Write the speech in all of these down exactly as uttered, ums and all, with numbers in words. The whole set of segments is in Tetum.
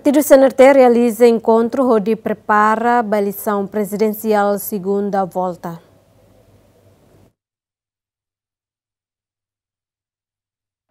Partidu C N R T realiza enkontru hodi prepara ba eleisaun prezidensiál segunda volta.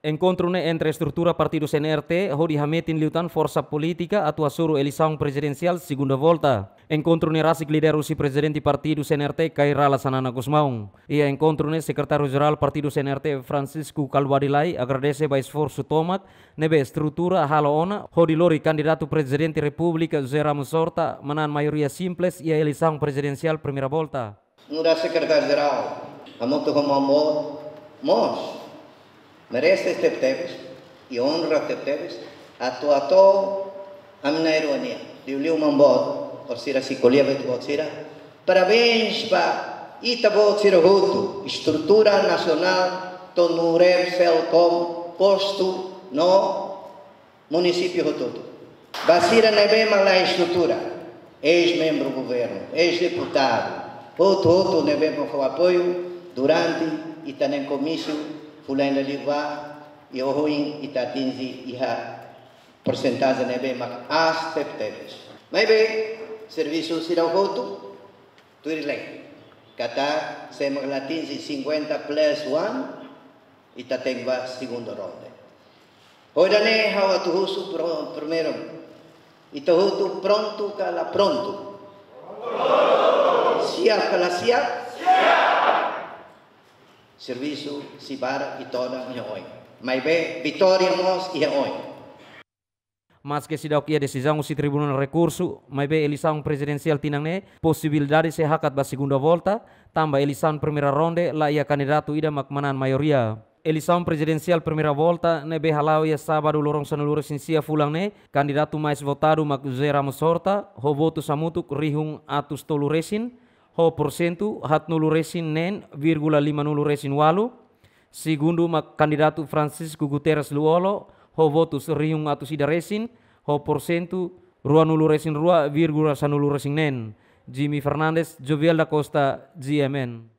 Enkontru ne'e entre estrutura partidu C N R T hodi hametin liután forsa polítika atu hasoru eleisaun prezidensiál segunda volta. Enkontru ne'e rasik lidera husi prezidente partidu C N R T, Kay Rala Xanana Gusmão. Iha enkontru ne'e, sekretáriu jerál partidu C N R T, Francisco Kalbuadi Lay, agradese ba esforsu tomak ne'ebé estrutura halo ona hodi lori kandidatu Prezidente Repúblika José Ramos Horta manán maioria simples iha eleisaun prezidensiál primeira volta. Nu'udar sekretáriu jerál, hamutuk ho Maun Boot mós merese tebetebes i onra tebetebes atu hato'o ami na'in-rua nian. Liuliu Maun Boot, orsida sei ko'alia ba ita-boot sira. Parabéns ba ita-boot sira hotu, estrutura nasionál, to'o NUREP, SELCOM, postu no munisípiu hotu-hotu. Ba sira ne'ebé mak la estrutura, eis-membru governu, eis-deputadu, hotu-hotu ne'ebé mak fó apoiu durante ita-nia komísiu fulan ida liubá, i ohin ita atinje iha porsentajen ne'ebé mak aas tebetebes. Maibé servisu sira hotu tuir lei. Katak se mak la atinje cinquenta plus one, ita tenke ba segunda ronda. Ho ida-ne'e ha'u atu husu pro-, primeiru. Ita hotu prontu ka la prontu? Siap ka la siap? Servisu sei barak i todan iha oin. Maibé vitória mós iha oin. Maske seidauk iha desizaun husi Tribunál Rekursu, maibé eleisaun prezidensiál tinan ne'e posibilidade sei hakat ba segunda volta, tanba eleisaun primeira ronda la iha kandidatu ida mak manán maioria. Eleisaun prezidensiál primeira volta ne'ebé hala'o iha sábadu loron sanulu-resin-sia fulan ne'e, kandidatu mais votadu mak José Ramos Horta, ho votus hamutuk rihun atus tolu-resin, ho porsentu haatnulu-resin-neen vírgula limanulu-resin-ualu. Segundu mak kandidatu Francisco Guterres Lú-Olo, ho votus rihun atus ida-resin, ho porsentu ruanulu-resin-rua vírgula sanulu-resin-neen. Jimmy Fernandes, Joviel da Costa, G M N.